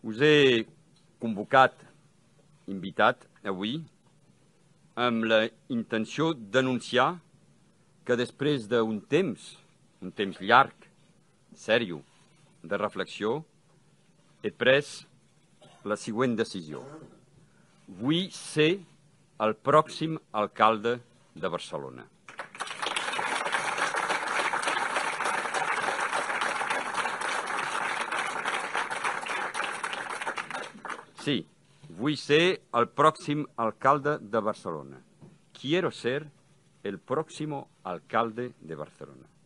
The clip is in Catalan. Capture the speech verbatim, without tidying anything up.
Us he convocat, invitat avui, amb la intenció d'anunciar que després d'un temps, un temps llarg, sèrio, de reflexió, he pres la següent decisió. Vull ser el pròxim alcalde de Barcelona. Sí, vull ser el pròxim alcalde de Barcelona. Quiero ser el próximo alcalde de Barcelona.